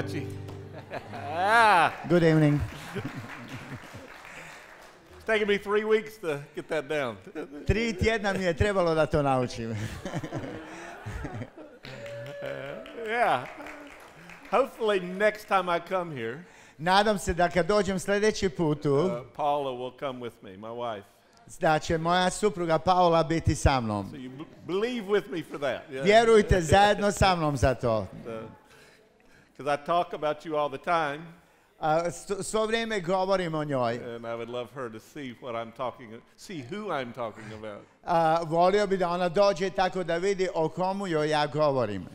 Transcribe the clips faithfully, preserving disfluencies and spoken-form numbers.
Betsy. ah. Good evening. It's taken me three weeks to get that down. Tri tjedna mi je trebalo da to naučim. uh, yeah. Hopefully next time I come here, Nadam se da kad dođem sljedeći put tu, uh, Paula will come with me, my wife. da će moja supruga Paola biti sa mnom. So you b- believe with me for that. Yeah. Vjerujte zajedno sa mnom za to. Because I talk about you all the time. A, sto- svo vrijeme govorim o njoj. And I would love her to see what I'm talking, see who I'm talking about. A, volio bi da ona dođe tako da vidi o komu joj ja govorim.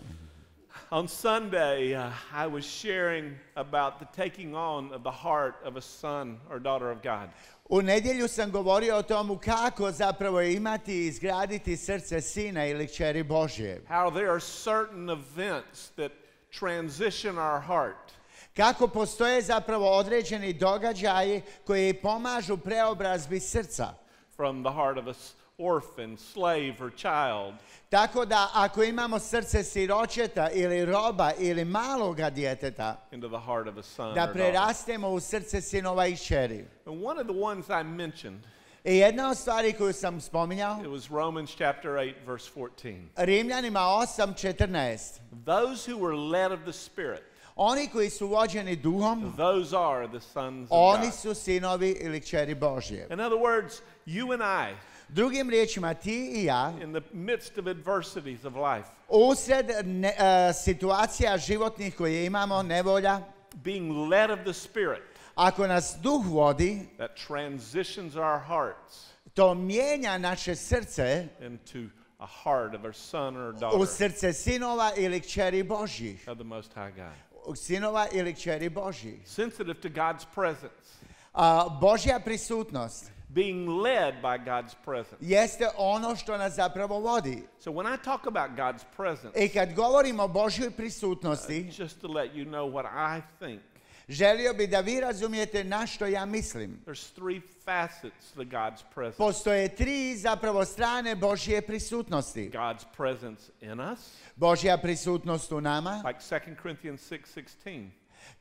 On Sunday, uh, I was sharing about the taking on of the heart of a son or daughter of God. U nedjelju sam govorio o tomu kako zapravo imati i izgraditi srce sina ili kćeri Božje. How there are certain events that transition our heart. Kako postoje zapravo određeni događaji koji pomažu preobrazbi srca. From the heart of an orphan, slave or child. Tako da ako imamo srce siročeta ili roba ili maloga djeteta, Into the heart of a son da or daughter. prerastemo u srce sinova i kćeri. And one of the ones I mentioned, I jedna od stvari koju sam spominjao, it was Romans chapter eight, verse fourteen. Rimljanima osam četrnaest. Those who were led of the Spirit, Oni koji su vođeni duhom, those are the sons of oni God. su sinovi ili kćeri Božje. In other words, you and I, Drugim riječima, ti i ja, in the midst of adversities of life, usred ne, uh, situacija životnih koje imamo, nevolja, being led of the Spirit, ako nas duh vodi, that transitions our hearts to mijenja naše srce into a heart of a son or u daughter srce sinova ili kćeri Božjih. of the Most High God. Sinova ili kćeri Božjih. Sensitive to God's presence, A Božja prisutnost being led by God's presence. jeste ono što nas zapravo vodi. So when I talk about God's presence, I kad govorimo o Božjoj prisutnosti, just to let you know what I think, želio bi da vi razumijete na što ja mislim. there's three facets to God's presence. Postoje tri zapravo strane Božje prisutnosti. God's presence in us, Božja prisutnost u nama, like Second Corinthians six sixteen,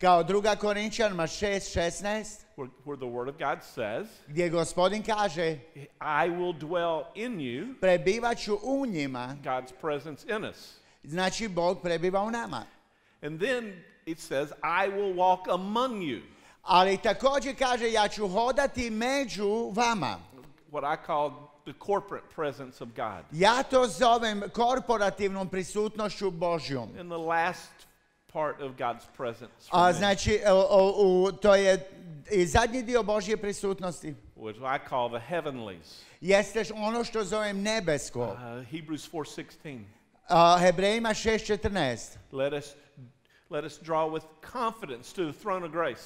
kao druga Korinčanima šest šesnaest, where, where the Word of God says, gdje Gospodin kaže, I will dwell in you, prebivaću u njima, God's presence in us. znači Bog prebiva u nama. And then it says, I will walk among you, Ali također kaže, ja ću hodati među vama. what I call the corporate presence of God. Ja to zovem korporativnom prisutnošću Božjom. In the last part of God's presence, for A me, znači, o, o, u, to je i zadnji dio Božje prisutnosti. which I call the heavenlies. Jeste ono što zovem nebesko. Uh, Hebrews four sixteen. A, Hebrejima šest četrnaest. Let us let us draw with confidence to the throne of grace.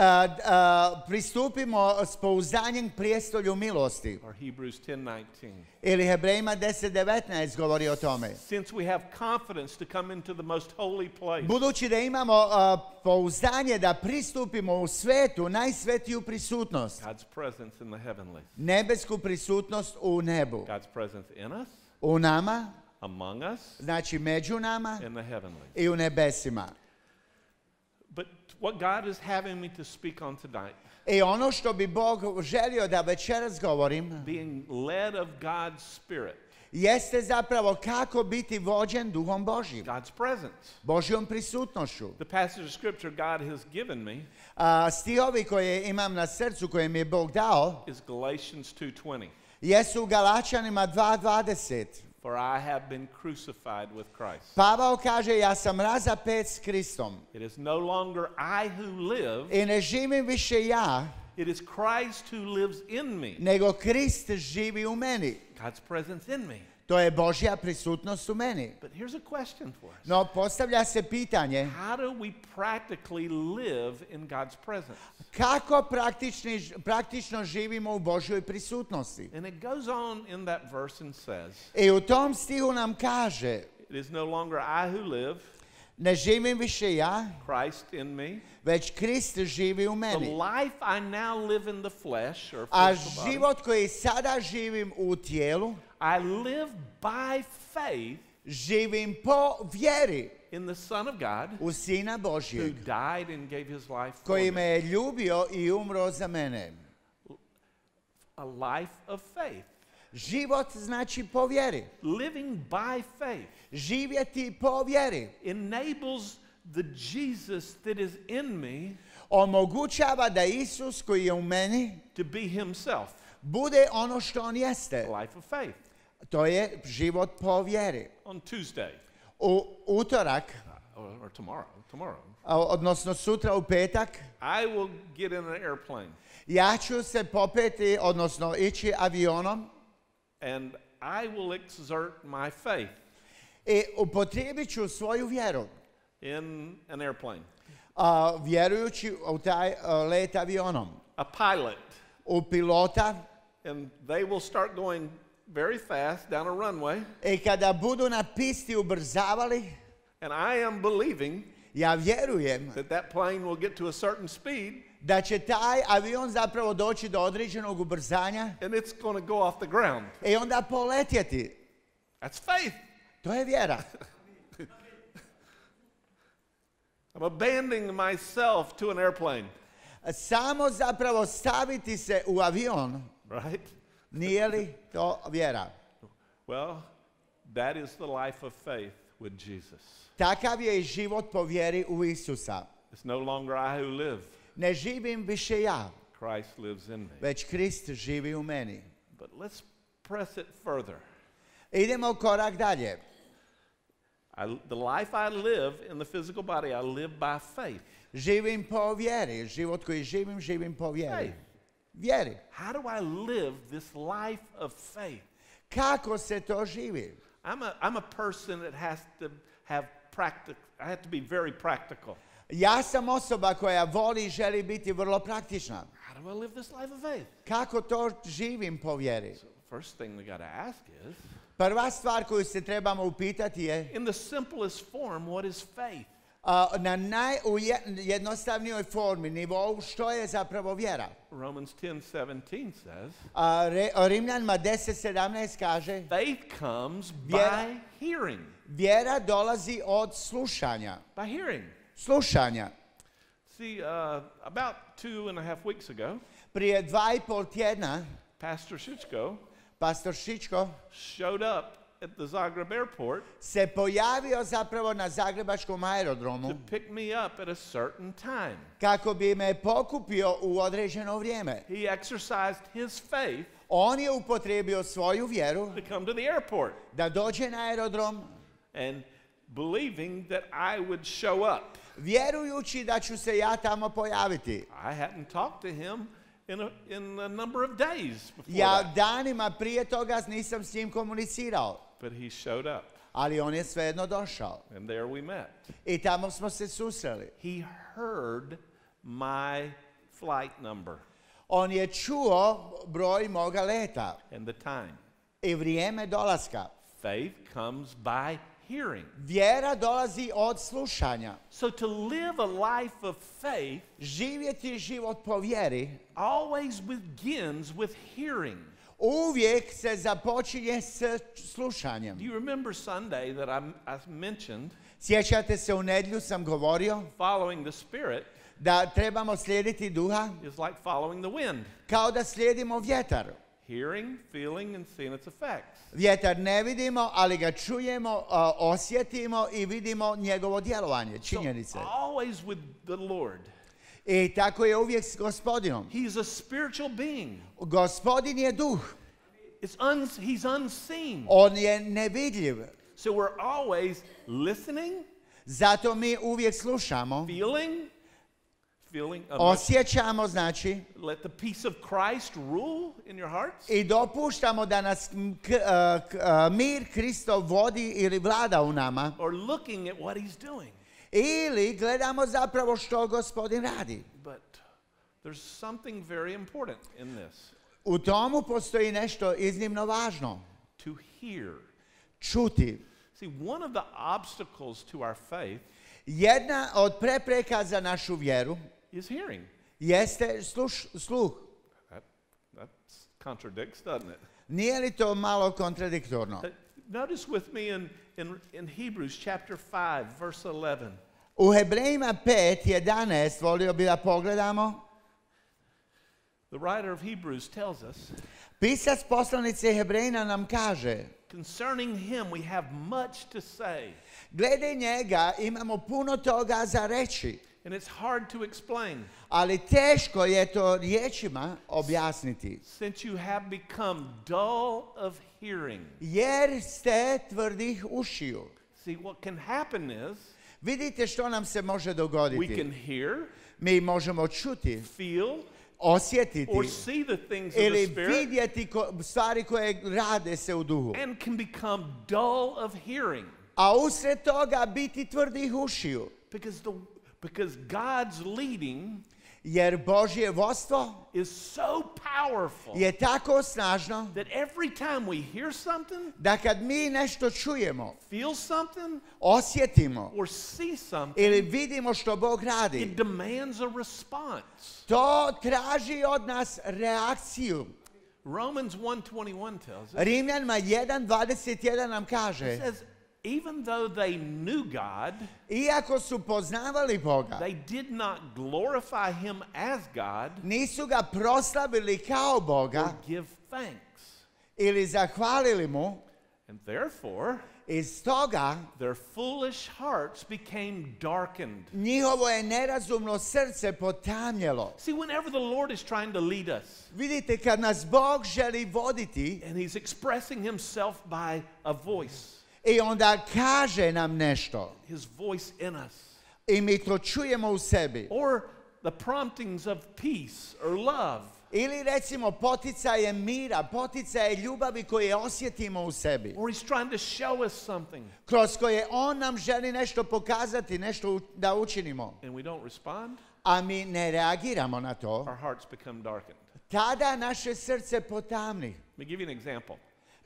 A, a, pristupimo s pouzdanjem prijestolju milosti. Or Hebrews ten nineteen. Ili Hebrejima deset devetnaest govori o tome. Since we have confidence to come into the most holy place, Budući da imamo a, pouzdanje da pristupimo u svetu, najsvetiju prisutnost, God's presence in the heavenlies, nebesku prisutnost u nebu. God's presence in us, U nama, among us, znači među nama in the heavenlies. i u nebesima. But what God is having me to speak on tonight, I ono što bi Bog želio da večeras govorim, being led of God's Spirit, jeste zapravo kako biti vođen duhom Božjim, God's presence. Božjom prisutnošću. The passage of scripture God has given me A, stihovi koje imam na srcu, koje mi je Bog dao, is Galatians two twenty. jesu u Galačanima dva dvadeset. For I have been crucified with Christ. Pavao kaže, ja sam razapet s Kristom. It is no longer I who live, I ne živim više ja, it is Christ who lives in me. nego Krist živi u meni. God's presence in me. To je Božja prisutnost u meni. But here's a question for us. No, postavlja se pitanje, How do we practically live in God's presence? kako praktični, praktično živimo u Božjoj prisutnosti? And it goes on in that verse and says, I u tom stihu nam kaže, it is no longer I who live, ne živim više ja, Christ in me. već Krist živi u The meni. life I now live in the flesh, or A physical body, život koji sada živim u tijelu, I live by faith živim po vjeri in the Son of God u Sina who Božjeg, died and gave his life for koji me. me je ljubio i umro za mene. A life of faith. Život znači po vjeri. Living by faith Živjeti po vjeri enables the Jesus that is in me omogućava da Isus koji je u meni to be himself. bude ono što on jeste. A life of faith. To je život po vjeri. On Tuesday, U utorak, or, or tomorrow, tomorrow, a, odnosno sutra u petak, I will get in an airplane ja ću se popeti, odnosno ići avionom and I will exert my faith i upotrijebit ću svoju vjeru, in an airplane. a, vjerujući u taj a, let avionom. A pilot, U pilota, and they will start going very fast down a runway, i kada budu na pisti ubrzavali, and I am believing ja vjerujem that that plane will get to a certain speed da će taj avion zapravo doći do određenog ubrzanja and it's going to go off the ground. i onda poletjeti. That's faith. To je vjera. I'm abandoning myself to an airplane, Samo zapravo staviti se u avion, right? nije li to vjera? Well, that is the life of faith with Jesus. Takav je i život po vjeri u Isusa. It's no longer I who live, Ne živim više ja, Christ lives in me. već Krist živi u meni. But let's press it further. Idemo korak dalje. I, the life I live in the physical body, I live by faith. Živim po vjeri. Život koji živim, živim po vjeri. Faith. Vjeri. How do I live this life of faith? Kako se to živi? I'm a, I'm a person that has to have practice. I have to be very practical. Ja sam osoba koja voli i želi biti vrlo praktična. How do I live this life of faith? Kako to živim po vjeri? So the first thing we got to ask is, Prva stvar koju se trebamo upitati je in the simplest form, what is faith? a, na najjednostavnijoj formi, nivou, što je zapravo vjera. Romans ten seventeen says, A, re, Rimljanima deset sedamnaest kaže, faith comes Vjera- by hearing. vjera dolazi od slušanja. By hearing. Slušanja. See, uh, about two and a half weeks ago, Prije dva i pol tjedna, Pastor Šičko pastor Šičko showed up at the Zagreb airport se pojavio zapravo na zagrebačkom to aerodromu pick me up at a certain time. kako bi me pokupio u određeno vrijeme. He exercised his faith On je upotrijebio svoju vjeru to come to the airport da dođe na aerodrom, and believing that I would show up. vjerujući da ću se ja tamo pojaviti. I hadn't talked to him in a, in a number of days before Ja that, danima prije toga nisam s njim komunicirao, but he showed up, ali on je svejedno došao. and there we met. I tamo smo se susreli. He heard my flight number On je čuo broj moga leta and the time. i vrijeme dolaska. Faith comes by hearing. Vjera dolazi od slušanja. So to live a life of faith Živjeti život po vjeri always begins with hearing. uvijek se započinje s slušanjem. Do you remember Sunday that I, I mentioned Sjećate se, u nedjelju sam govorio following the Spirit da trebamo slijediti duha is like following the wind? kao da slijedimo vjetar. Hearing, feeling, and seeing its effects. Vjetar ne vidimo, ali ga čujemo, a, osjetimo i vidimo njegovo djelovanje, So činjenice. always with the Lord. I tako je uvijek s Gospodinom. He's a spiritual being. Gospodin je duh, It's un, he's unseen. on je nevidljiv. So we're always listening, Zato mi uvijek slušamo, feeling, feeling. uh, osjećamo, znači, let the peace of Christ rule in your hearts. i dopuštamo da nas m, k- a, k- a, mir Kristov vodi ili vlada u nama. Or looking at what he's doing. Ili gledamo zapravo što Gospodin radi. But there's something very important in this. U tomu postoji nešto iznimno važno. To hear. Čuti. See, one of the obstacles to our faith Jedna od prepreka za našu vjeru is hearing. jeste sluš, sluh. That, that contradicts, doesn't it? Nije li to malo kontradiktorno? Uh, Notice with me in, in, in Hebrews chapter five, verse eleven. U Hebrejima pet jedanaest volio bi da pogledamo. The writer of Hebrews tells us, Pisac poslanice Hebrejina nam kaže, concerning him we have much to say, glede njega imamo puno toga za reći, and it's hard to explain, ali teško je to riječima objasniti. since you have become dull of hearing. Jer ste tvrdih ušiju. See, what can happen is Vidite što nam se može we dogoditi. can hear, Mi možemo čuti, feel, osjetiti or see the things of the ili Spirit, vidjeti ko- stvari koje rade se u duhu. and can become dull of hearing. A usred toga biti tvrdih ušiju. Because, the, because God's leading Jer Božje vodstvo is so powerful je tako snažno that every time we hear something, da kad mi nešto čujemo, feel something, osjetimo or see something, ili vidimo što Bog radi, it demands a response. to traži od nas reakciju. Romans one twenty-one tells us, Rimljanima jedan dvadeset jedan nam it kaže, says, even though they knew God, iako su poznavali Boga, they did not glorify him as God nisu ga proslavili kao or Boga give thanks. ili zahvalili mu, And therefore, iz toga their foolish hearts became darkened. njihovo je nerazumno srce potamnjelo. See, whenever the Lord is trying to lead us, Vidite, kad nas Bog želi voditi and he's expressing himself by a voice, i onda kaže nam nešto his voice in us, i mi to čujemo u sebi, or the promptings of peace or love, ili recimo poticaje mira, poticaje ljubavi koje osjetimo u sebi, or he's trying to show us something, kroz koje On nam želi nešto pokazati, nešto u- da učinimo, and we don't respond, a mi ne reagiramo na to, our hearts become darkened. tada naše srce potamni. Let me give you an example.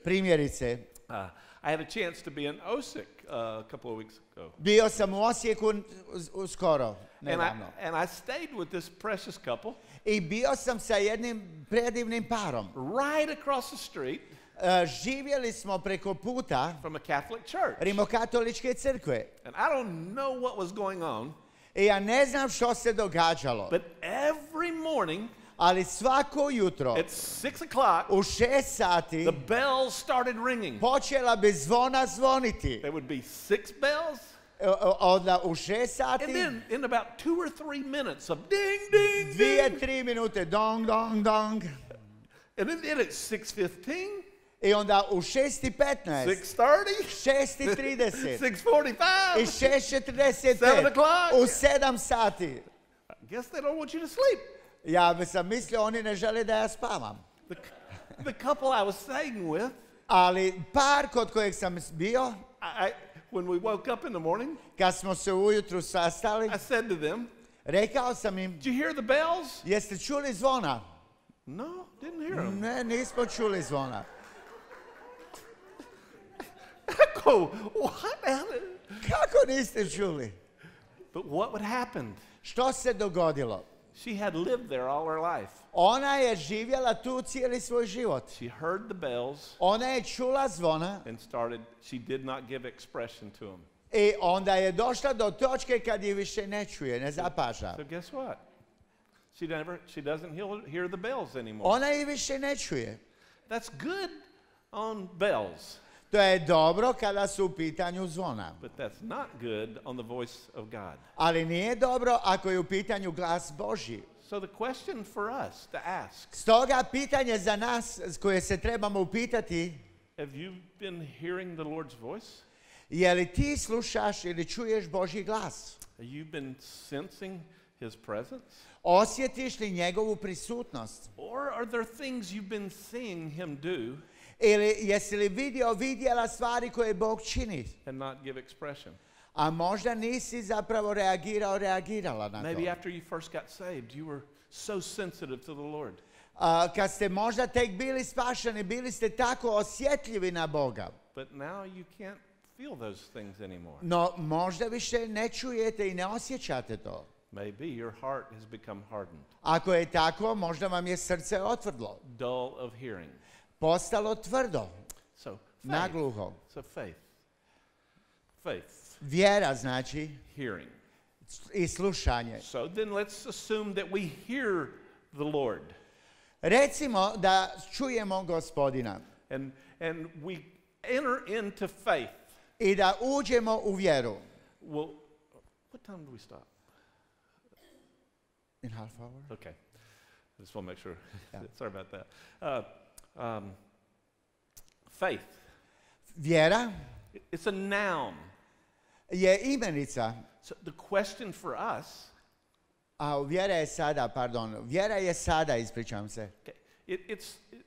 Primjerice, Uh, I had a chance to be in Osijek uh, a couple of weeks ago. bio sam u Osijeku uz- uskoro, And I, nedavno, and I stayed with this precious couple i bio sam sa jednim predivnim parom. right across the street E, živjeli smo preko puta from a Catholic church. Rimokatoličke crkve. And I don't know what was going on, I ja ne znam što se događalo, but every morning ali svako jutro at six o'clock, u šest sati the bells started ringing. počela bi zvona zvoniti. There would be six bells, E, o- Onda u šest and sati, then in about two or three minutes of ding, ding, dvije, ding. tri minute, dong, dong, dong. And then, then at six fifteen, I onda u šest i petnaest, six thirty, šest i trideset six i forty-five. šest četrdeset Seven pet, o'clock. u sedam sati. I guess they don't want you to sleep. Ja bi sam mislio, oni ne žele da ja spavam. The, the couple I was staying with, Ali par kod kojeg sam bio, I, I, when we woke up in the morning, kad smo se ujutru sastali, I said to them, rekao sam im, did you hear the bells? jeste čuli zvona? No, didn't hear them. Ne, nismo čuli zvona. I go, what? Kako niste čuli? But what would happen? Što se dogodilo? She had lived there all her life. Ona je živjela tu cijeli svoj život. She heard the bells Ona je čula zvona and started, she did not give expression to them. i onda je došla do točke kad je više ne čuje, ne zapaža. So guess what? She never, she doesn't hear, hear the bells anymore. Ona je više ne čuje. That's good on bells, To je dobro kada su u pitanju zvona. but that's not good on the voice of God. Ali nije dobro ako je u pitanju glas Božji. So the question for us to ask, Stoga pitanje za nas koje se trebamo upitati, have you been hearing the Lord's voice? je li ti slušaš ili čuješ Božji glas? Have you been sensing His presence? Osjetiš li njegovu prisutnost? Or are there things you've been seeing Him do Ili jesi li vidio, vidjela stvari koje Bog čini? and not give expression? A možda nisi zapravo reagirao, reagirala na Maybe to. after you first got saved, you were so sensitive to the Lord. A, kad ste možda tek bili spašeni, bili ste tako osjetljivi na Boga. But now you can't feel those things anymore. No možda više ne čujete i ne osjećate to. Maybe your heart has become hardened, Ako je tako, možda vam je srce otvrdlo, dull of hearing. postalo tvrdo, So faith. nagluho. So faith. faith? Vjera znači Hearing. i slušanje. So then let's assume that we hear the Lord. Recimo da čujemo Gospodina And, and we enter into faith. i da uđemo u vjeru. Well, what time do we stop? In half hour? Okay. I just want to make sure. Yeah. Sorry about that. Uh, um, faith. Vjera It's a noun. je imenica, So the question for us, a vjera je sada, pardon, vjera je sada, ispričavam se. okay, it, it's it,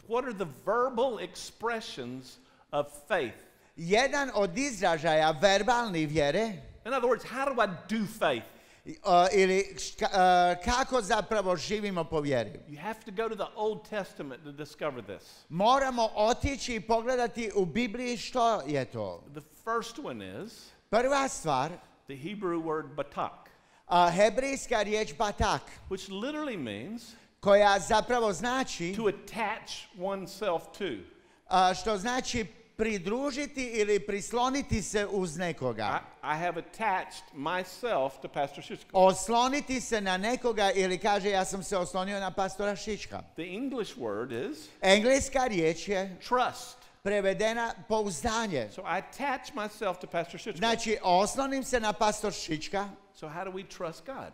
what are the verbal expressions of faith? Jedan od izražaja verbalni vjere, In other words, how do I do faith? uh, ili ška- uh, kako zapravo živimo po vjeri. You have to go to the Old Testament to discover this. Moramo otići i pogledati u Bibliji što je to. The first one is Prva stvar, the Hebrew word batak, uh, hebrijska riječ batak, which literally means koja zapravo znači, to attach oneself to. uh, što znači pridružiti ili prisloniti se uz nekoga. I, I have attached myself to Pastor Shushka. Osloniti se na nekoga ili kaže ja sam se oslonio na pastora Šička. The English word is Engleska riječ je trust. prevedena pouzdanje. So I attach myself to Pastor Shushka. Znači, oslonim se na pastor Šička. So how do we trust God?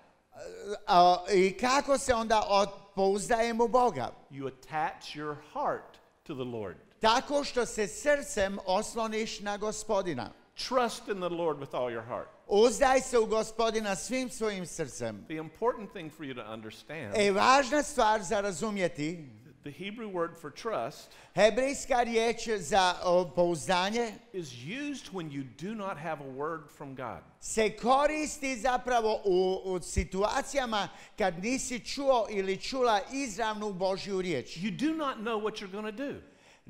A, i kako se onda od- pouzdajem u Boga? You attach your heart to the Lord. Tako što se srcem osloniš na Gospodina. Trust in the Lord with all your heart. Uzdaj se u Gospodina svim svojim srcem. The important thing for you to understand, E, važna stvar za razumjeti, the Hebrew word for trust hebrijska riječ za o, pouzdanje is used when you do not have a word from God. se koristi zapravo u, u situacijama kad nisi čuo ili čula izravnu Božju riječ. You do not know what you're going to do.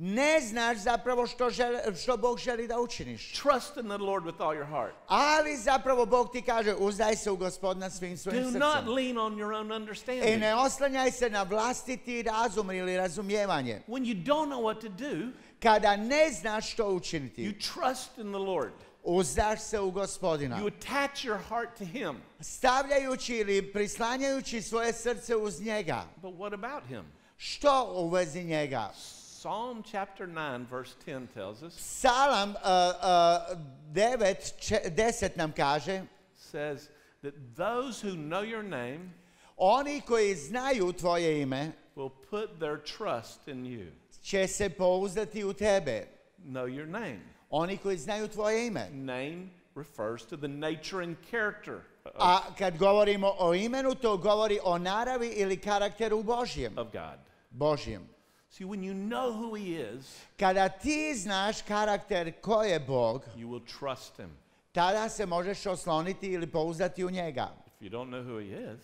Ne znaš zapravo što, želi, što Bog želi da učiniš. Trust in the Lord with all your heart. Ali zapravo Bog ti kaže uzdaj se u Gospodina svim svojim Do srcem. not lean on your own I understanding. ne oslanjaj se na vlastiti razum ili razumijevanje. When you don't know what to do, Kada ne znaš što you učiniti, trust in the Lord. uzdaš se u Gospodina. You attach your heart to Him. Stavljajući ili prislanjajući svoje srce uz njega. But what about Him? Što u vezi njega? Psalm chapter nine, verse ten tells us, Psalam uh, uh, devet, če- deset nam kaže, says that those who know your name oni koji znaju tvoje ime will put their trust in you. će se pouzdati u tebe. Know your name. Oni koji znaju tvoje ime. Name refers to the nature and character of, A kad govorimo o imenu, to govori o naravi ili karakteru Božjem. of God. Božjem. See, when you know who He is, Kada ti znaš karakter ko je Bog, you will trust Him. tada se možeš osloniti ili pouzdati u njega. If you don't know who He is,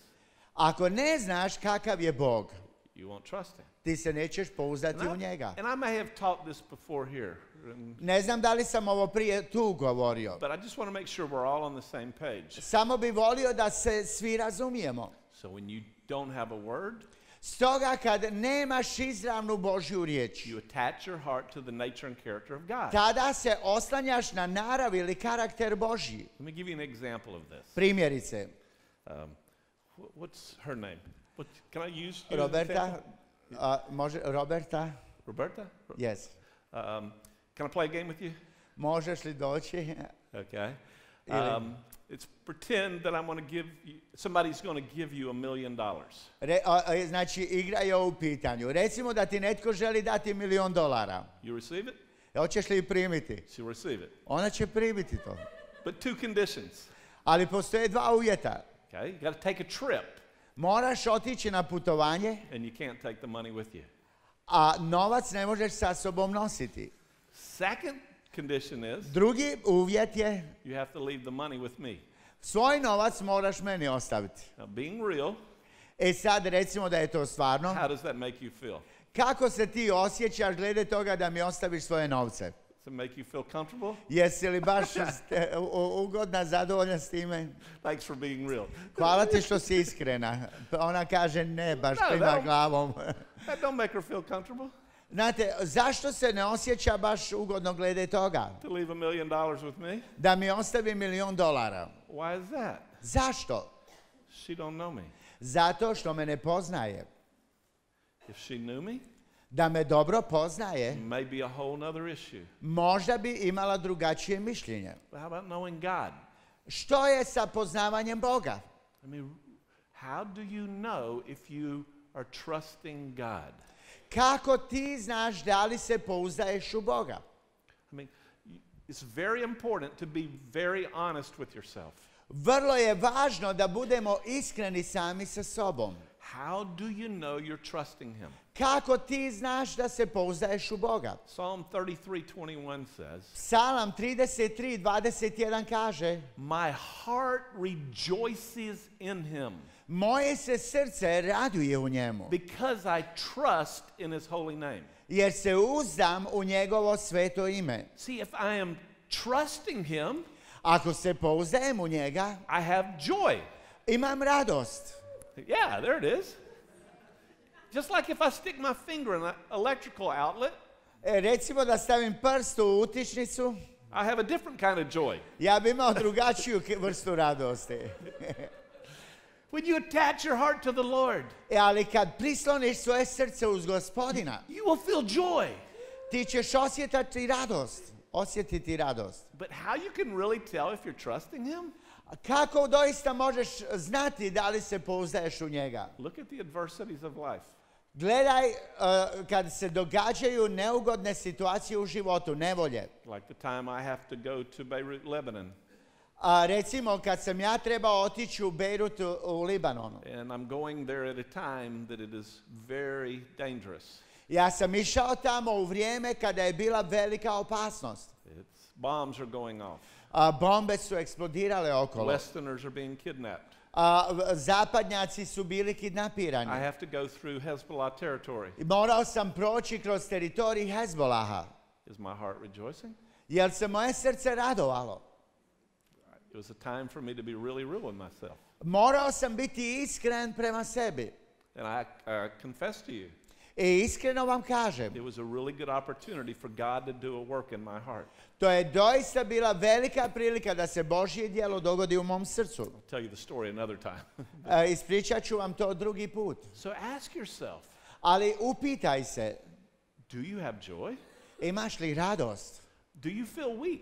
Ako ne znaš kakav je Bog, you won't trust Him. ti se nećeš pouzdati And u I, njega. and I may have taught this before here, and- Ne znam da li sam ovo prije tu govorio. but I just want to make sure we're all on the same page. Samo bi volio da se svi razumijemo. So when you don't have a word, Stoga kad nemaš izravnu Božju riječ, you attach your heart to the nature and character of God. tada se oslanjaš na narav ili karakter Božji. Let me give you an example of this. Primjerice, Um, wh- what's her name? What, can I use you as an Roberta, example? a, može, Roberta, Roberta? Ro- yes. Um, can I play a game with you? Možeš li doći? Okay. Ili- Um, it's pretend that I'm going to give you, somebody's going to give you a million dollars. Re, a, a, znači, igra je u pitanju. Recimo da ti netko želi dati milion dolara. You receive it? Hoćeš li primiti? She'll receive it. Ona će primiti to. But two conditions. Ali postoje dva uvjeta. Okay? You got to take a trip, Moraš otići na putovanje, and you can't take the money with you. a novac ne možeš sa sobom nositi. Second condition is Drugi uvjet je, you have to leave the money with me. svoj novac moraš meni ostaviti. Now, being real, E sad recimo da je to stvarno. how does that make you feel? Kako se ti osjećaš glede toga da mi ostaviš svoje novce? Does it make you feel comfortable? Jesi li baš ste- u- u- ugodna, zadovoljna s time? Thanks for being real. Hvala ti što si iskrena. Ona kaže ne, baš Da, klima da. glavom. That don't make her feel comfortable. Znate, zašto se ne osjeća baš ugodno glede toga? To leave a million dollars with me? Da mi ostavi milion dolara. Why is that? Zašto? She don't know me. Zato što me ne poznaje. If she knew me, Da me dobro poznaje, maybe a whole nother issue. možda bi imala drugačije mišljenje. But how about knowing God? Što je sa poznavanjem Boga? I mean, how do you know if you are trusting God? Kako ti znaš da li se pouzdaješ u Boga? I mean, y- it's very important to be very honest with yourself. Vrlo je važno da budemo iskreni sami sa sobom. How do you know you're trusting Him? Kako ti znaš da se pouzdaješ u Boga? Psalm thirty-three twenty-one says, Psalam trideset tri dvadeset jedan kaže: my heart rejoices in Him Moje se srce raduje u njemu, because I trust in His holy name. jer se uzdam u njegovo sveto ime. See, if I am trusting Him, Ako se pouzdajem u njega, I have joy. imam radost. Yeah, there it is. Just like if I stick my finger in an electrical outlet, E, recimo da stavim prst u utičnicu, I have a different kind of joy. ja bi imao drugačiju ke- vrstu radosti. When you attach your heart to the Lord, E, ali kad prisloniš svoje srce uz Gospodina, you will feel joy. ti ćeš osjetiti radost. Osjetiti radost. But how you can really tell if you're trusting Him? A kako doista možeš znati da li se pouzdaješ u njega? Look at the adversities of life. Gledaj uh, kad se događaju neugodne situacije u životu, nevolje. Like the time I have to go to Beirut, Lebanon, A recimo kad sam ja trebao otići u Bejrut u, u Libanonu. and I'm going there at a time that it is very dangerous. Ja sam išao tamo u vrijeme kada je bila velika opasnost. It's, bombs are going off. A bombe su eksplodirale okolo. Westerners are being kidnapped. A v- zapadnjaci su bili I kidnapirani. have to go through Hezbollah territory. I morao sam proći kroz teritorij Hezbolaha. Is my heart rejoicing? Jer se moje srce radovalo. It was a time for me to be really real with myself. Morao sam biti iskren prema sebi. And I uh, confess to you, I iskreno vam kažem, it was a really good opportunity for God to do a work in my heart. to je doista bila velika prilika da se Božje djelo dogodi u mom srcu. I'll tell you the story another time. E, ispričat ću vam to drugi put. So ask yourself, Ali upitaj se, do you have joy? imaš li radost? Do you feel weak?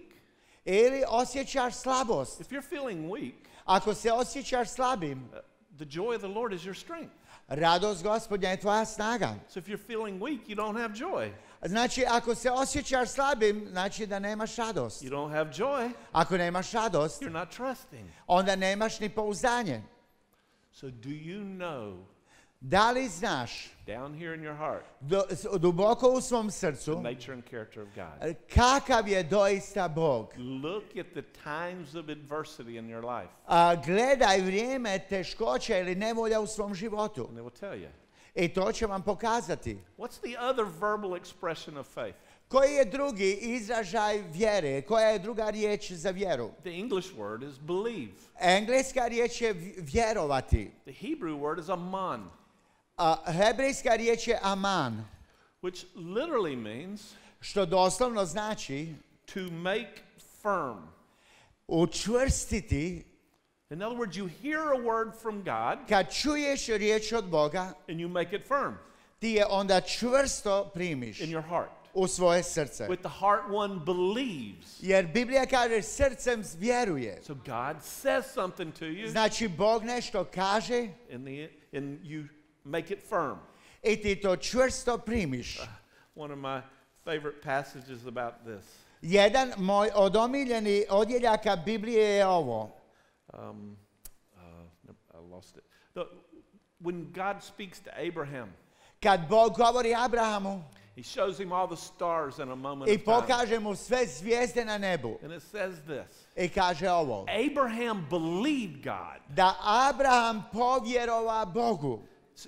Ili osjećaš slabost? If you're feeling weak, Ako se osjećaš slabim, uh, the joy of the Lord is your strength. radost Gospodnja je tvoja snaga. So if you're feeling weak, you don't have joy. Znači, ako se osjećaš slabim, znači da nemaš radost. You don't have joy, Ako nemaš radost, you're not trusting. onda nemaš ni pouzdanje. So do you know Da li znaš down here in your heart do, s- duboko u svom the srcu nature and character of God? kakav je doista Bog? Look at the times of adversity in your life, A, gledaj vrijeme teškoća ili nevolja u svom životu. and it will tell you. I to će vam pokazati. What's the other verbal expression of faith? Koji je drugi izražaj vjere? Koja je druga riječ za vjeru? The English word is believe. Engleska riječ je v- vjerovati. The Hebrew word is aman, A hebrejska riječ je aman, which literally means što doslovno znači to make firm. učvrstiti. In other words, you hear a word from God Kad čuješ riječ od Boga, and you make it firm ti je onda čvrsto primiš in your heart. u svoje srce. With the heart one believes. Jer Biblija kaže srcem vjeruje. So God says something to you Znači Bog nešto kaže and, the, and you make it firm. i ti to čvrsto primiš. One of my favorite passages about this. Jedan moj od omiljeni odjeljaka Biblije je ovo. Um, uh, nope, I lost it. The, when God speaks to Abraham, Kad Bog govori Abrahamu He shows him all the stars in a moment i of time. pokaže mu sve zvijezde na nebu. And it says this. I kaže ovo. Abraham believed God. Da Abraham povjerova Bogu.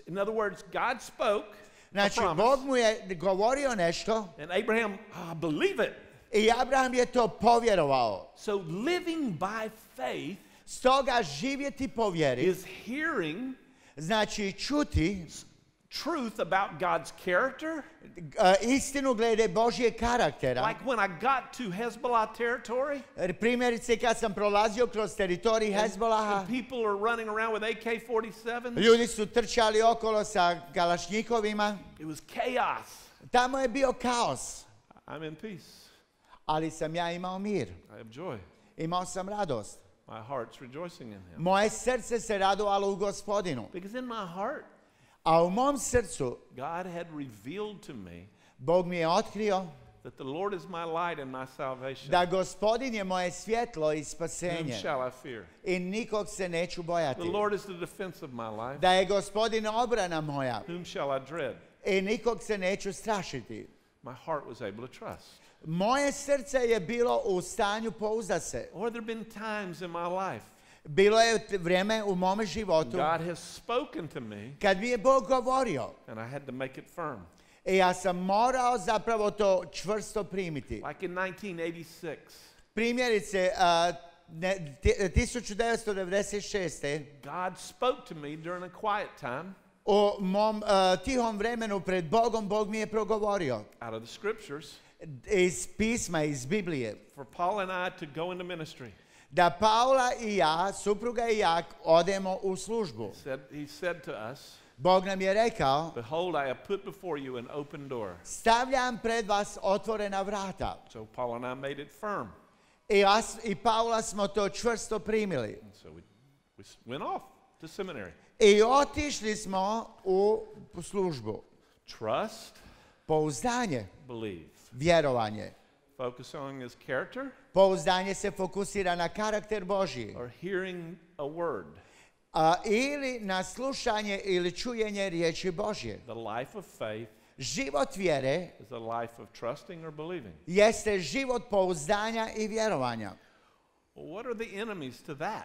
In other words, God spoke a Znači promise, Bog mu je govorio nešto and Abraham ah, believe it. i Abraham je to povjerovao. So living by faith Stoga živjeti po vjeri is hearing, znači čuti, truth about God's character. uh, istinu glede Božjeg karaktera. Like when I got to Hezbollah territory, Primjerice kad sam prolazio kroz teritorij Hezbolaha, and people are running around with A K forty-sevens. ljudi su trčali okolo sa kalašnjikovima. It was chaos. Tamo je bio kaos, I'm in peace. ali sam ja imao mir. I have joy. Imao sam radost. My heart's rejoicing in Him. Moje srce se radovalo u Gospodinu. Because in my heart, A u mom srcu God had revealed to me Bog mi je otkrio that the Lord is my light and my salvation. da Gospodin je moje svjetlo i Whom spasenje shall I fear? i nikog se neću The bojati. Lord is the defense of my life. Da je Gospodin obrana moja Whom shall I dread? i nikog se neću strašiti. My heart was able to trust. Moje srce je bilo u stanju pouzda se. Or there have been times in my life Bilo je t- vrijeme u mome životu God has spoken to me kad mi je Bog govorio and I had to make it firm. i ja sam morao zapravo to čvrsto primiti. Like in nineteen eighty-six, Primjerice, a, ne, ti- tisuću devetsto devedeset šeste. God spoke to me during a quiet time u mom a, tihom vremenu pred Bogom, Bog mi je progovorio out of the scriptures iz pisma, iz Biblije, for Paul and I to go into ministry. da Paula i ja, supruga i ja, odemo u službu. Said, he said to us, Bog nam je rekao, behold, I have put before you an open door. stavljam pred vas otvorena vrata. So Paul and I made it firm. I, ja s- i Paula smo to čvrsto primili. And so we, we s- went off to seminary. I otišli smo u službu. Trust, Pouzdanje, believe. vjerovanje. Focus on his character Pouzdanje se fokusira na karakter Božji. or hearing a word. A, ili na slušanje ili čujenje riječi Božje. The life of faith Život vjere is a life of trusting or believing. jeste život pouzdanja i vjerovanja. Well, what are the enemies to that?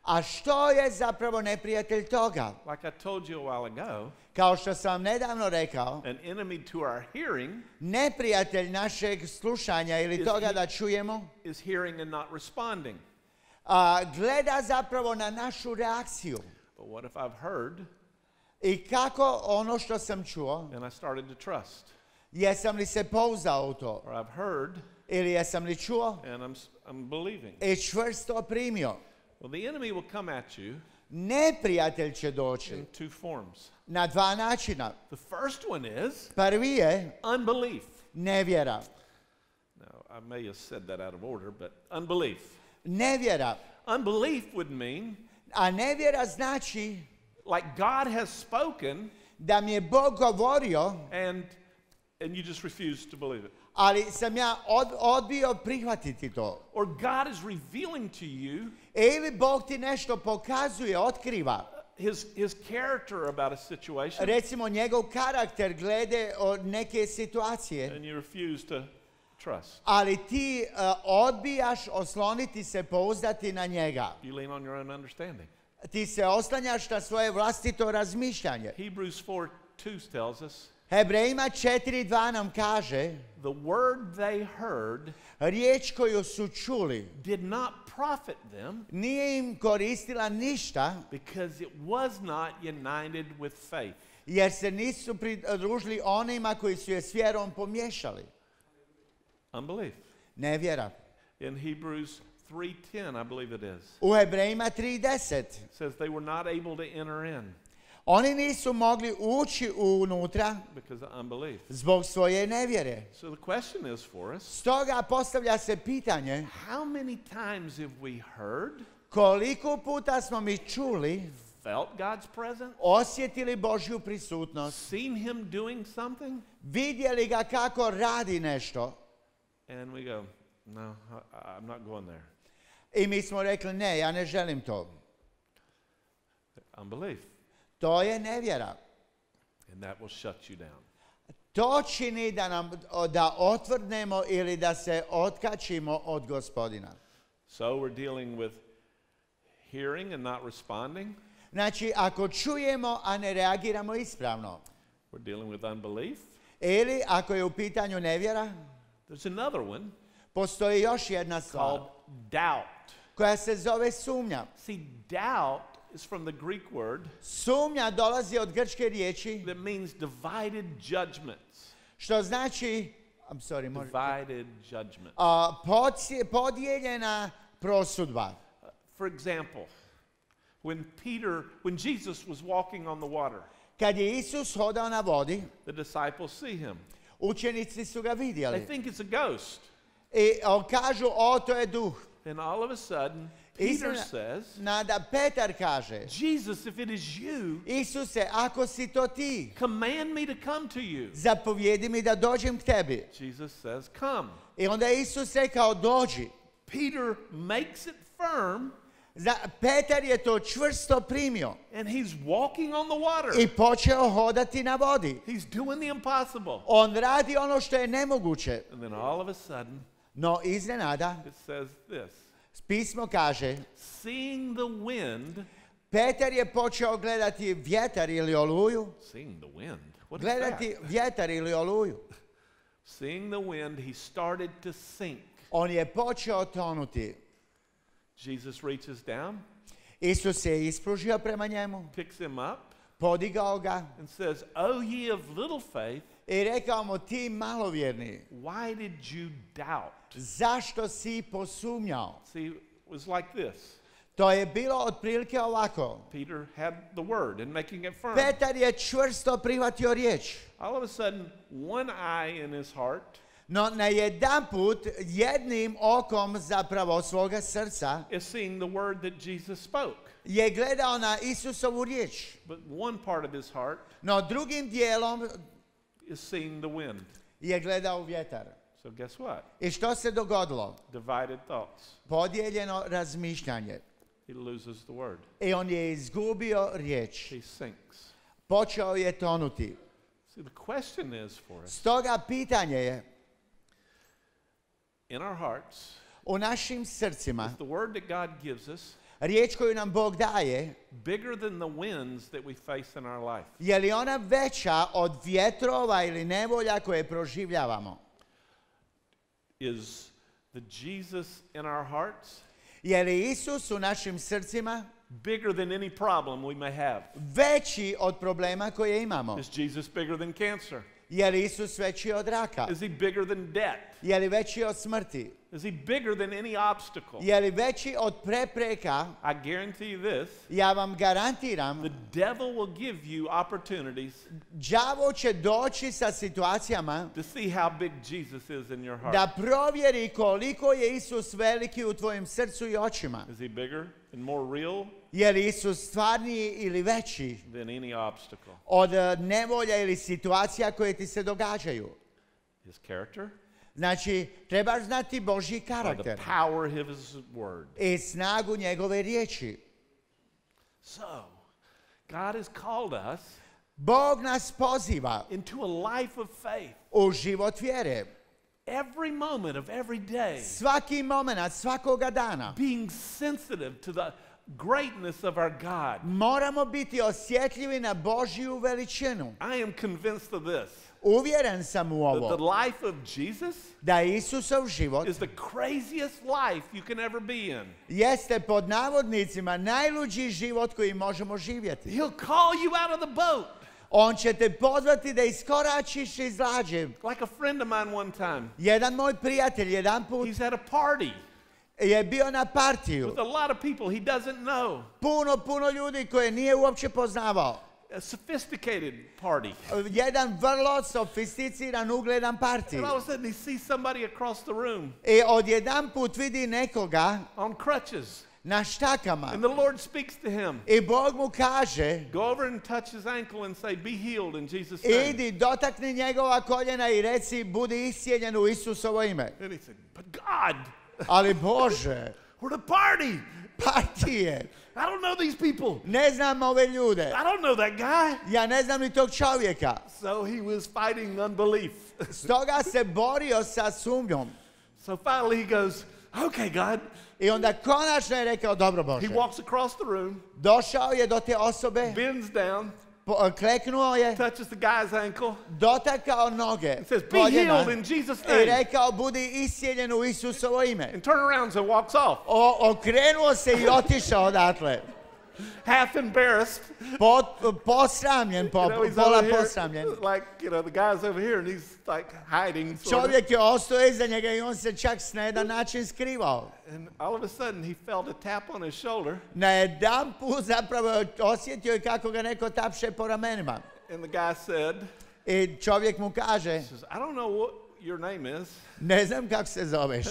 A što je zapravo neprijatelj toga? Like I told you a while ago, Kao što sam vam nedavno rekao, an enemy to our hearing neprijatelj našeg slušanja ili Is toga he- da čujemo, is hearing and not responding. a, gleda zapravo na našu reakciju. But what if I've heard I kako ono što sam čuo, and I started to trust? jesam li se pouzdao u to? Or I've heard Ili jesam li čuo and I'm, s- I'm believing? i čvrsto primio? Well, the enemy will come at you Neprijatelj će doći in two forms. na dva načina. The first one is Prvi je unbelief. nevjera. Now, I may have said that out of order, but unbelief. Nevjera. Unbelief would mean A nevjera znači like God has spoken da mi je Bog govorio, and and you just refuse to believe it. ali sam ja od, odbio prihvatiti to. Or God is revealing to you Ili Bog ti nešto pokazuje, otkriva. his his character about a situation Recimo njegov karakter glede o neke situacije. and you refuse to trust. Ali ti uh, odbijaš osloniti se, pouzdati na njega. You lean on your own understanding. Ti se oslanjaš na svoje vlastito razmišljanje. Hebrews four two tells us Hebrejima četiri dva nam kaže, the word they heard riječ koju su čuli did not profit them nije im koristila ništa because it was not united with faith. jer se nisu pridružili onima koji su je s vjerom pomiješali. Unbelief. Nevjera. In Hebrews three ten, I believe it is, U Hebrejima tri deset it says they were not able to enter in oni nisu mogli ući unutra because of unbelief. zbog svoje nevjere. So the question is for us, Stoga postavlja se pitanje how many times have we heard, koliko puta smo mi čuli, felt God's presence, osjetili Božju prisutnost, seen him doing something, vidjeli ga kako radi nešto and we go, no, I, I'm not going there. i mi smo rekli ne, ja ne želim to. Unbelief. To je nevjera. And that will shut you down. To čini da nam da otvrdnemo ili da se otkačimo od Gospodina. So we're dealing with hearing and not responding. Znači, ako čujemo, a ne reagiramo ispravno, We're dealing with unbelief. ili ako je u pitanju nevjera, There's another one postoji još jedna stvar called doubt. koja se zove sumnja. See, doubt is from the Greek word Sumnja dolazi od grčke riječi that means divided judgments. što znači, I'm sorry, može, Divided judgment. a, podsje- podijeljena prosudba. For example, when Peter, when Jesus was walking on the water, Kad je Isus hodao na vodi, the disciples see him. učenici su ga They vidjeli. think it's a ghost. I o, kažu, o, to je duh. And all of a sudden, Peter Iznena- says, Nada Petar kaže, Jesus, if it is you, Isuse, ako si to ti, command me to come to you. zapovjedi mi da dođem k tebi. Jesus says, come. I onda je Isus rekao, dođi. Peter makes it firm, Za, Petar je to čvrsto primio and he's walking on the water. i počeo hodati na vodi. He's doing the impossible. On radi ono što je nemoguće. And then all of a sudden, No iznenada, it says this. pismo kaže, Seeing the wind, Petar je počeo gledati vjetar ili oluju. seeing the wind. What is Gledati that? vjetar ili oluju. Seeing the wind, he started to sink. On je počeo tonuti. Jesus reaches down, Isus se ispružio prema njemu, picks him up, podigao ga and says, O ye of little faith, i rekao mu, ti malovjerni, why did you doubt? zašto si posumnjao? See, it was like this. To je bilo otprilike ovako. Peter had the word and making it firm. Petar je čvrsto prihvatio riječ. All of a sudden, one eye in his heart No na jedan put jednim okom zapravo svoga srca is seeing the word that Jesus spoke. je gledao na Isusovu riječ. But one part of his heart No drugim dijelom is seeing the wind. je gledao vjetar. So guess what? I što se dogodilo? Divided thoughts. Podijeljeno razmišljanje. He loses the word. I on je izgubio riječ. He sinks. Počeo je tonuti. See, the question is for us, Stoga pitanje je, in our hearts, u našim srcima, is the word that God gives us riječ koju nam Bog daje, bigger than the winds that we face in our life? je li ona veća od vjetrova ili nevolja koje proživljavamo? Is the Jesus in our hearts Je li Isus u našim srcima bigger than any problem we may have? veći od problema koje imamo? Is Jesus bigger than cancer? Je li Isus veći od raka? Is he bigger than debt? Je li veći od smrti? Is he bigger than any obstacle? Je li veći od prepreka? I guarantee you this. Ja vam garantiram, The devil will give you opportunities đavo će doći sa situacijama to see how big Jesus is in your heart. da provjeri koliko je Isus veliki u tvojim srcu i očima. Is he bigger and more real Je li Isus stvarniji ili veći than any obstacle? od eh, nevolja ili situacija koje ti se događaju? His character? Znači, trebaš znati Božji By the karakter power of his word. i snagu njegove riječi. So, God has called us Bog nas poziva into a life of faith. u život vjere. Every moment of every day, Svaki moment, svakoga dana. being sensitive to the greatness of our God. Moramo biti osjetljivi na Božju veličinu. I am convinced of this. Uvjeren sam u That the ovo, life of Jesus da Isusov život is the craziest life you can ever be in. jeste pod navodnicima najluđi život koji možemo živjeti. He'll call you out of the boat. On će te pozvati da iskoračiš iz lađe. Like a friend of mine one time. Jedan moj prijatelj jedan put He's at a party je bio na partiju. with a lot of people he doesn't know. Puno, puno ljudi koje nije uopće poznavao. A sophisticated party. Jedan vrlo sofisticiran, ugledan partij. And all of a sudden he sees somebody across the room I odjedan put vidi nekoga on crutches. na štakama. And the Lord speaks to him. I Bog mu kaže, Go over and touch his ankle and say, be healed in Jesus' name. idi, dotakni njegova koljena i reci, budi iscijeljen u Isusovo ime. And he said, but God, Ali Bože, we're at a party. partije. I don't know these people. Ne znam ove ljude. I don't know that guy. Ja ne znam ni tog čovjeka. So he was fighting unbelief. Stoga se borio sa sumnjom. So finally he goes, okay, God. I onda konačno je rekao, dobro He Bože. walks across the room, Došao je do te osobe, bends down, po- kleknuo je, touches the guy's ankle, dotakao noge, and says, be koljena healed in Jesus' i name. rekao, budi iscijeljen u Isusovo ime. And turn around and walks off. O, okrenuo se i otišao odatle. half embarrassed. Pot, posramljen, po, You know, he's pola over here, posramljen. like, you know, the guy's over here and he's like hiding. Sort of. Čovjek je ostao iza njega i on se čak na jedan način skrivao. And all of a sudden he felt a tap on his shoulder. Na jedan put zapravo je osjetio i kako ga neko tapše po ramenima. And the guy said, I čovjek mu kaže, says, I don't know what your name is, ne znam kako se zoveš,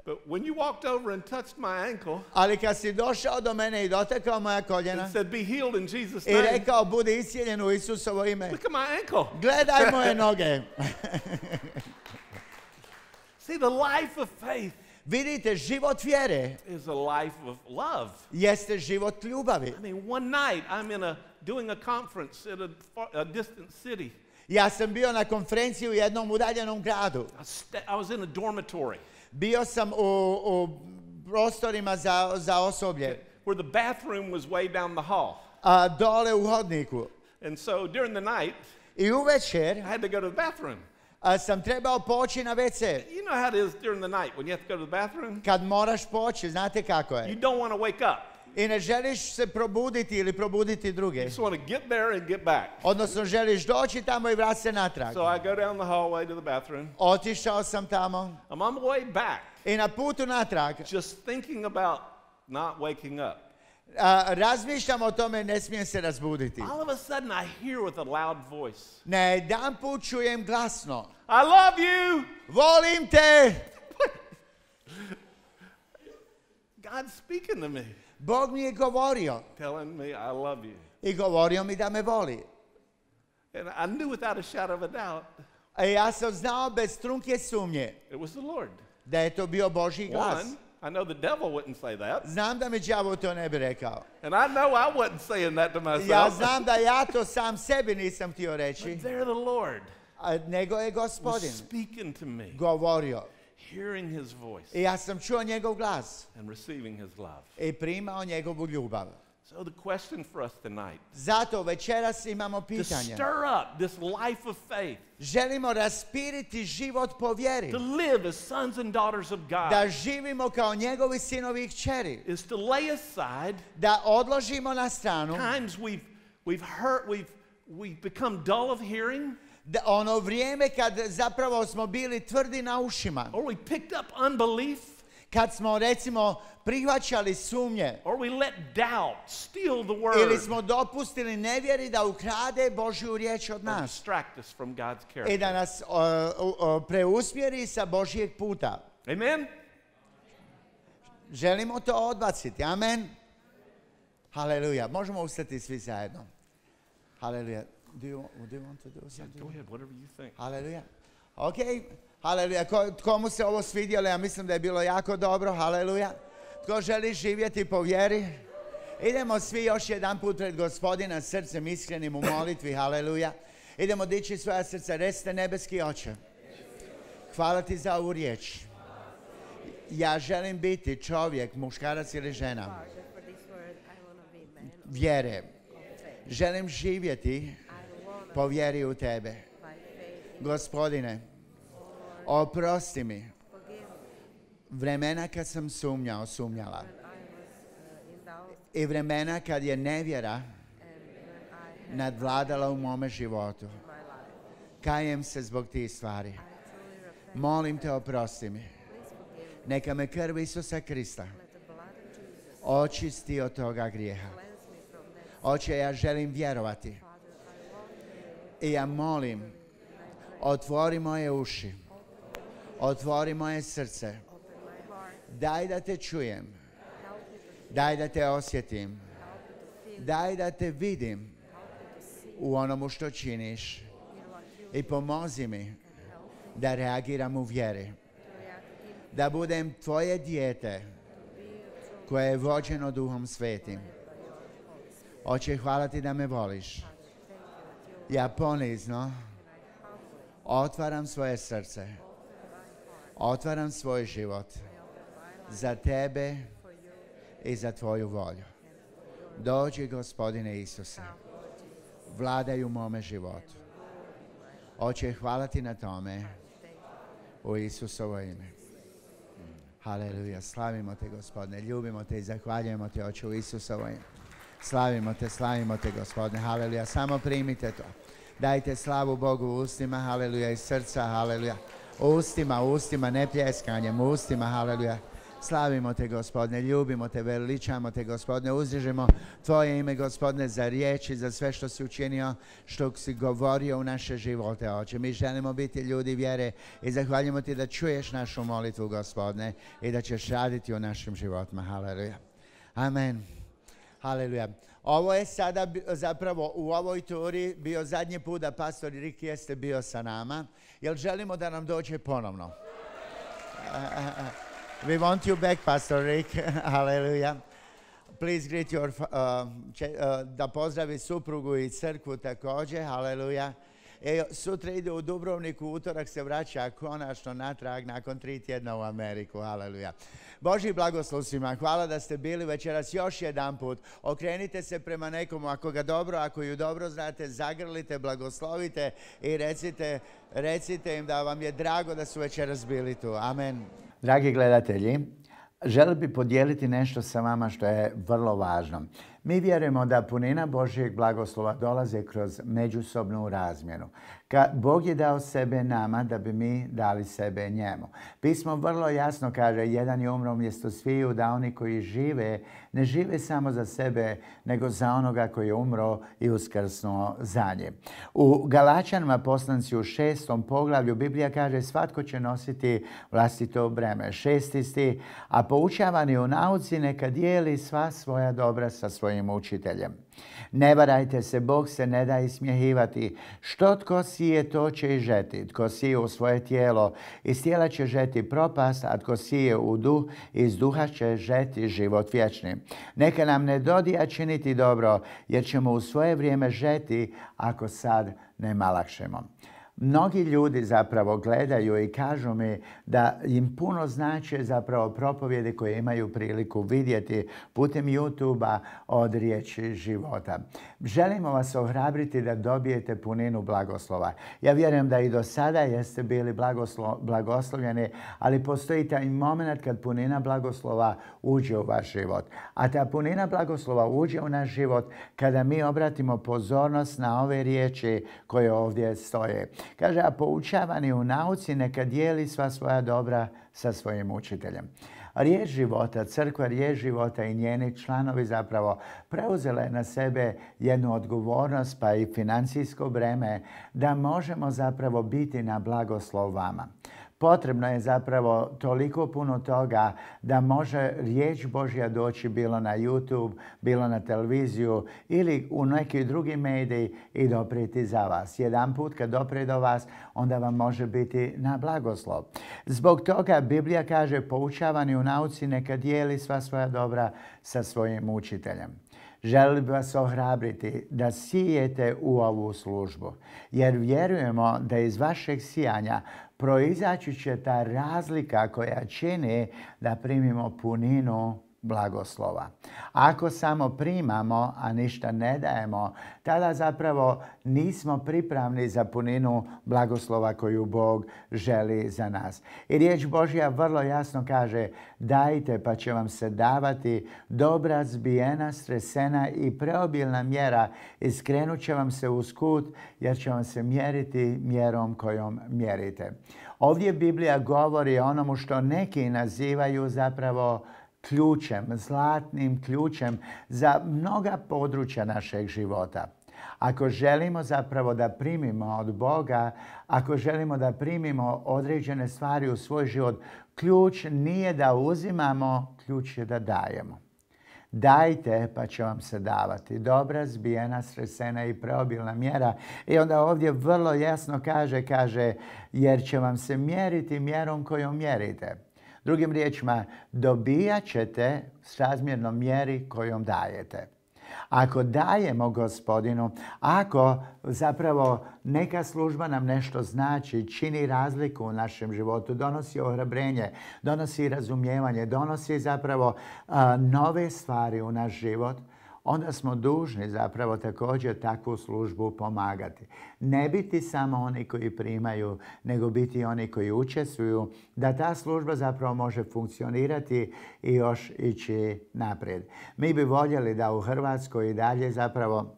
but when you walked over and touched my ankle ali kad si došao do mene i dotakao moja koljena and said, be healed in Jesus' i name, rekao budi iscijeljen u Isusovo ime, look at my ankle. gledaj moje noge. See, the life of faith Vidite, život vjere is a life of love. jeste život ljubavi. I mean, one night I'm in a doing a conference in a, far, a distant city. Ja sam bio na konferenciji u jednom udaljenom gradu. I, sta- I was in a dormitory Bio sam u, u prostorima za, za osoblje, where the bathroom was way down the hall. a dole u hodniku. And so during the night, I uvečer I had to go to the bathroom. a, sam trebao poći na ve ce. You know how it is during the night when you have to go to the bathroom? Kad moraš poći, znate kako You je. don't want to wake up. I ne želiš se probuditi ili probuditi druge. You just want to get there and get back. Odnosno želiš doći tamo i vrati se natrag. So I go down the hallway to the bathroom. Otišao sam tamo I'm on the way back, i na putu natrag just thinking about not waking up. a, razmišljam o tome, ne smijem se razbuditi. All of a sudden I hear with a loud voice, Na jedan put čujem glasno, I love you. volim te. God's speaking to me, Bog mi je govorio telling me I love you. i govorio mi da me voli. And I knew without a shadow of a doubt A ja sam znao bez trunke sumnje it was the Lord. da je to bio Božji glas. One, I know the devil wouldn't say that. Znam da mi đavo to ne bi rekao. And I know I wasn't saying that to Ja myself. znam da ja to sam sebi nisam htio But reći, there the Lord a nego je was Gospodin speaking to me, govorio. hearing his voice I ja sam čuo njegov glas and receiving his love. i primao njegovu ljubav. So the question for us tonight, Zato večeras imamo to pitanje. stir up this life of faith, Želimo raspiriti život po vjeri. to live as sons and daughters of Da God, živimo kao njegovi sinovi i kćeri. is to lay aside Da odložimo na stranu times we've we've hurt, we've we've become dull of hearing, da ono vrijeme kad zapravo smo bili tvrdi na ušima. or we picked up unbelief, Kad smo recimo prihvaćali sumnje or we let doubt steal the ili word smo dopustili nevjeri da ukrade Božju riječ od and nas distract us from God's i character. da nas o, o, o, preusmjeri sa Božjeg puta. Amen? Želimo to odbaciti. Amen. Haleluja. Možemo ustati svi zajedno. Haleluja. Do you, do you want to do Yeah, something? go ahead, whatever you think. Haleluja. Ok. Haleluja. Ko, komu se ovo svidjelo? Ja mislim da je bilo jako dobro. Haleluja. Tko želi živjeti po vjeri? Idemo svi još jedan put pred Gospodina srcem iskrenim u molitvi. Haleluja. Idemo dići svoja srca. Recite nebeski Oče. Hvala ti za ovu riječ. Ja želim biti čovjek, muškarac ili žena Father, for this word, I want to be man of vjere. faith. Želim živjeti I want to po vjeri u tebe. by faith. Gospodine, oprosti mi Forgive me vremena kad sam sumnjao, sumnjala. when I was uh, in doubt I vremena kad je nevjera and when I had nadvladala u mome životu. my life. Kajem se zbog tih stvari. I truly repent. Molim te, oprosti mi. Please forgive me. Neka me krv Isusa Krista Let the blood of Jesus očisti od toga grijeha. cleanse me from that. Oče, ja želim vjerovati. Father, I want to I ja molim, otvori moje uši, otvori moje srce, open my heart. daj da te čujem, Help me to daj da te osjetim, help me to feel. daj da te vidim Help me to see u onomu što činiš in what you i pomozi mi help da reagiram u vjeri, to react in da budem tvoje dijete be true koje je vođeno Duhom Svetim. by your Holy Spirit. Oče, hvala ti da me voliš. Father, thank you that you Ja ponizno and I humbly otvaram svoje srce, open my heart. otvaram svoj život I open my life za tebe for you i za tvoju volju. and for your Dođi, Gospodine Isuse, come, Lord Jesus. vladaj u mome životu. Oče, hvala ti na tome Thank you. u Isusovo ime. Haleluja, slavimo te, Gospodine, ljubimo te i zahvaljujemo te, Oče, u Isusovo ime. Slavimo te, slavimo te, Gospodine. Haleluja. Samo primite to. Dajte slavu Bogu u ustima, haleluja, iz srca, haleluja. U ustima, u ustima, ne pljeskanjem, u ustima, haleluja. Slavimo te, Gospodine, ljubimo te, veličamo te, Gospodine, uzdižemo tvoje ime, Gospodine, za riječi, za sve što si učinio, što si govorio u naše živote, Oče. Mi želimo biti ljudi vjere i zahvaljujemo ti da čuješ našu molitvu, Gospodine, i da ćeš raditi u našim životima. Haleluja. Amen. Haleluja. Ovo je sada zapravo u ovoj turi bio zadnji put da pastor Rick jeste bio sa nama, jer želimo da nam dođe ponovno. We want you back, Pastor Rick. Hallelujah. Please greet your, uh, če, uh, da pozdravi suprugu i crkvu također. Hallelujah. E, sutra ide u Dubrovniku, utorak se vraća konačno natrag nakon tri tjedna u Ameriku. Hallelujah. Božji blagoslov svima. Hvala da ste bili večeras još jedan put. Okrenite se prema nekomu, ako ga dobro, ako ju dobro znate, zagrlite, blagoslovite i recite, recite im da vam je drago da su večeras bili tu. Amen. Dragi gledatelji, želim bi podijeliti nešto sa vama što je vrlo važno. Mi vjerujemo da punina Božjeg blagoslova dolaze kroz međusobnu razmjenu. Ka Bog je dao sebe nama da bi mi dali sebe njemu. Pismo vrlo jasno kaže, jedan je umro umjesto sviju, da oni koji žive, ne žive samo za sebe, nego za onoga koji je umro i uskrsnuo za nje. U Galačanima poslanici u šestom poglavlju Biblija kaže, svatko će nositi vlastito breme. Šesti stih, a poučavani u nauci neka dijeli sva svoja dobra sa svojim učiteljem. Ne varajte se, Bog se ne da ismjehivati. Što tko sije, to će i žeti. Tko sije u svoje tijelo, iz tijela će žeti propast, a tko sije u duh, iz duha će žeti život vječni. Neka nam ne dodija činiti dobro, jer ćemo u svoje vrijeme žeti ako sad ne malakšemo. Mnogi ljudi zapravo gledaju i kažu mi da im puno znače zapravo propovjede koje imaju priliku vidjeti putem YouTube-a od riječi života. Želimo vas ohrabriti da dobijete puninu blagoslova. Ja vjerujem da i do sada jeste bili blagoslo, blagoslovljeni, ali postoji taj moment kad punina blagoslova uđe u vaš život. A ta punina blagoslova uđe u naš život kada mi obratimo pozornost na ove riječi koje ovdje stoje. Kaže, a poučavani u nauci neka dijeli sva svoja dobra sa svojim učiteljem. Riječ života, crkva riječ života i njeni članovi zapravo preuzela je na sebe jednu odgovornost pa i financijsko breme da možemo zapravo biti na blagoslov vama. Potrebno je zapravo toliko puno toga da može riječ Božja doći bilo na YouTube, bilo na televiziju ili u neki drugi mediji i doprijeti za vas. Jedan put kad doprije do vas, onda vam može biti na blagoslov. Zbog toga Biblija kaže, poučavani u nauci neka dijeli sva svoja dobra sa svojim učiteljem. Želim bi vas ohrabriti da sijete u ovu službu, jer vjerujemo da iz vašeg sijanja proizaći će ta razlika koja čini da primimo puninu blagoslova. Ako samo primamo, a ništa ne dajemo, tada zapravo nismo pripravni za puninu blagoslova koju Bog želi za nas. I riječ Božja vrlo jasno kaže, dajte pa će vam se davati dobra, zbijena, stresena i preobilna mjera i skrenut će vam se uz kut, jer će vam se mjeriti mjerom kojom mjerite. Ovdje Biblija govori o onomu što neki nazivaju zapravo ključem, zlatnim ključem za mnoga područja našeg života. Ako želimo zapravo da primimo od Boga, ako želimo da primimo određene stvari u svoj život, ključ nije da uzimamo, ključ je da dajemo. Dajte pa će vam se davati. Dobra, zbijena, stresena i preobilna mjera. I onda ovdje vrlo jasno kaže, kaže, jer će vam se mjeriti mjerom kojom mjerite. Drugim riječima, dobijat ćete s razmjernom mjeri kojom dajete. Ako dajemo Gospodinu, ako zapravo neka služba nam nešto znači, čini razliku u našem životu, donosi ohrabrenje, donosi razumijevanje, donosi zapravo a, nove stvari u naš život, onda smo dužni zapravo također takvu službu pomagati. Ne biti samo oni koji primaju, nego biti oni koji učestvuju, da ta služba zapravo može funkcionirati i još ići naprijed. Mi bi voljeli da u Hrvatskoj i dalje zapravo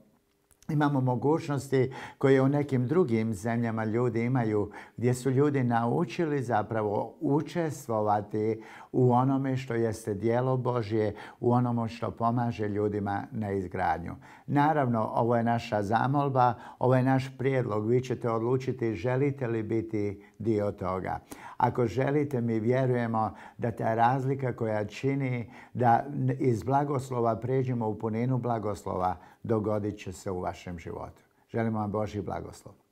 imamo mogućnosti koje u nekim drugim zemljama ljudi imaju, gdje su ljudi naučili zapravo učestvovati u onome što jeste djelo Božje, u onome što pomaže ljudima na izgradnju. Naravno, ovo je naša zamolba, ovo je naš prijedlog. Vi ćete odlučiti želite li biti dio toga. Ako želite, mi vjerujemo da ta razlika koja čini da iz blagoslova pređemo u puninu blagoslova, dogodit će se u vašem životu. Želimo vam Božji blagoslov.